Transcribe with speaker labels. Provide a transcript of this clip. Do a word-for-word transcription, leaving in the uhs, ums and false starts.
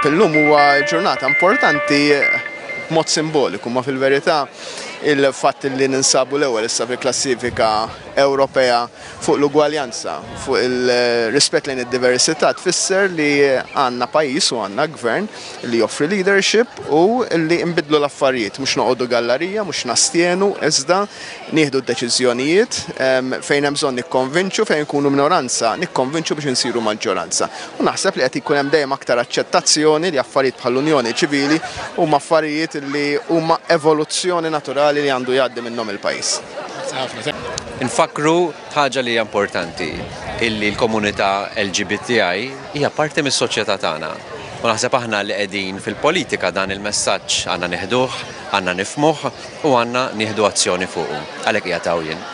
Speaker 1: Illum huwa ġurnata importanti b'mod simboliku, ma fil-verità il-fatt li ninsabu l-ewwel issa fil-klassifika Ewropea fuq l-ugwaljanza, fuq il-rispett lejn id-diversità, tfisser li għandna pajjiż u għandna gvern li joffri leadership u li nbidlu l-affarijiet, mhux noqogħdu gallerija, mhux nastjenu, iżda nieħdu d-deċiżjonijiet fejn hemm bżonn nikkonvinċu, fejn nkunu minoranza, nikkonvinċu biex insiru maġġoranza. U naħseb li qed ikun hemm dejjem aktar aċċettazzjoni li affarijiet bħall-Unjoni Ċivili huma affarijiet li huma evoluzzjoni naturali li għandu jgħaddi minnhom il-pajjiż.
Speaker 2: Nfakru ħaġa li hija importanti, illi l-komunità L G B T I hija parti mis-soċjetà tagħna. U naħseb aħna li qegħdin fil-politika dan il-messaġġ għandna nieħduh, għandna nifhmuh u għandna nieħdu azzjoni fuqu. Għalhekk qiegħed hawn jien.